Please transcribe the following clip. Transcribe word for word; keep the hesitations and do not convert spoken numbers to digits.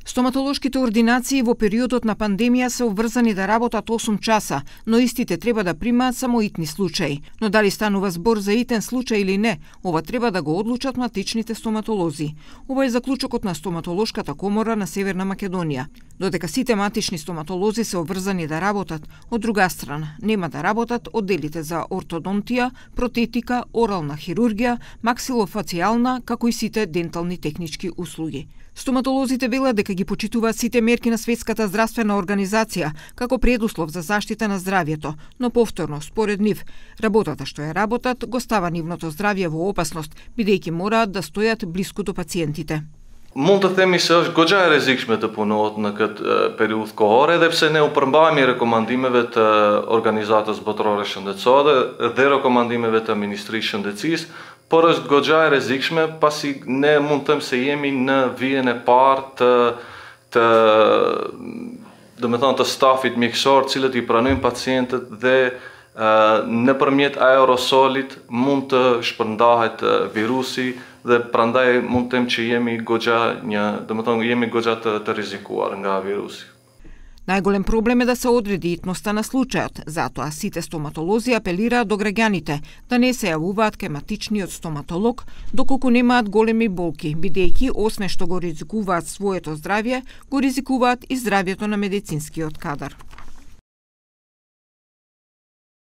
Стоматолошките ординации во периодот на пандемија се обврзани да работат осум часа, но истите треба да примаат само итни случаи. Но дали станува збор за итен случај или не, ова треба да го одлучат матичните стоматолози. Ова е заклучокот на Стоматолошката комора на Северна Македонија. Додека сите матични стоматолози се обврзани да работат, од друга страна нема да работат одделите за ортодонтија, протетика, орална хирургија, максилофацијална, како и сите дентални технички услуги. Стоматолозите велат дека ги почитуваат сите мерки на Светската здравствена организација како предуслов за заштита на здравјето, но повторно, според нив, работата што ја работат го става нивното здравје во опасност, бидејќи мораат да стојат блиску до пациентите. Mund të themi se është goxha e rrezikshme të punohet në këtë periudhë kohore, edhe pse ne u përmbahemi rekomandimeve të Organizatës Botërore Shëndetësore dhe rekomandimeve të Ministrisë së Shëndetësisë, por është goxha e rrezikshme pasi ne mund të them se jemi në vijën e parë të të do të thonë të stafit mjekësor, të cilët i pranojnë pacientët dhe nëpërmjet aerosolit mund të shpërndahet virusi dhe prandaj mund të them që jemi goxha një, do të thonë jemi goxha të, të rrezikuar nga virusi. Најголем проблем е да се одреди итноста на случајот, затоа сите стоматолози апелираат до граѓаните да не се јавуваат кај матичниот стоматолог доколку немаат големи болки, бидејќи освен што го ризикуваат своето здравје, го ризикуваат и здравјето на медицинскиот кадар.